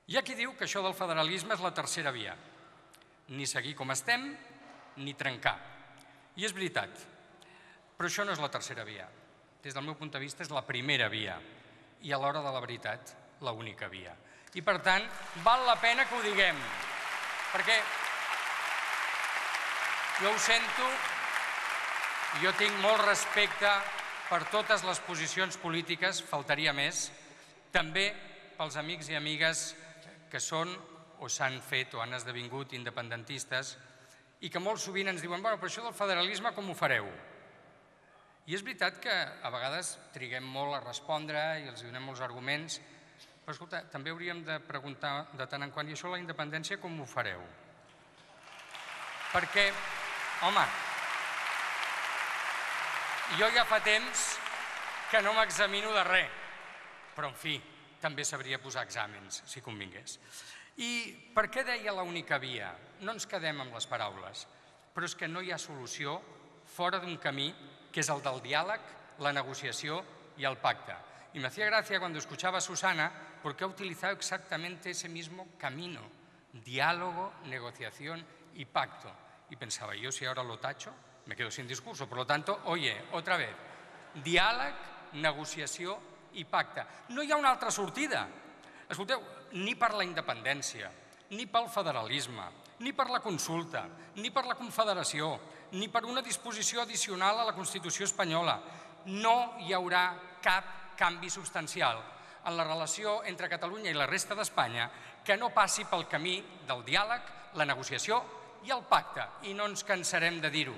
Hi ha qui diu que això del federalisme és la tercera via. Ni seguir com estem, ni trencar. I és veritat, però això no és la tercera via. Des del meu punt de vista és la primera via i a l'hora de la veritat, l'única via. I per tant, val la pena que ho diguem, perquè jo ho sento, jo tinc molt respecte per totes les posicions polítiques, faltaria més, també pels amics i amigues que són o s'han fet o han esdevingut independentistes i que molt sovint ens diuen, bueno, però això del federalisme com ho fareu? I és veritat que a vegades triguem molt a respondre i els donem molts arguments, però escolta, també hauríem de preguntar de tant en quant, i això la independència com ho fareu? Perquè, home, jo ja fa temps que no m'examino de res, però en fi, també sabria posar exàmens, si convingués. I per què deia l'única via? No ens quedem amb les paraules, però és que no hi ha solució fora d'un camí que és el del diàleg, la negociació i el pacte. Y me hacía gracia cuando escuchaba a Susana porque ha utilizado exactamente ese mismo camino, diálogo, negociación y pacto. Y pensaba, yo si ahora lo tacho, me quedo sin discurso. Por lo tanto, oye, otra vez, diàleg, negociació i pacte. No hi ha una altra sortida. Escolteu, ni per la independència, ni pel federalisme, ni per la consulta, ni per la confederació, ni per una disposició addicional a la Constitució espanyola. No hi haurà cap canvi substancial en la relació entre Catalunya i la resta d'Espanya que no passi pel camí del diàleg, la negociació i el pacte. I no ens cansarem de dir-ho.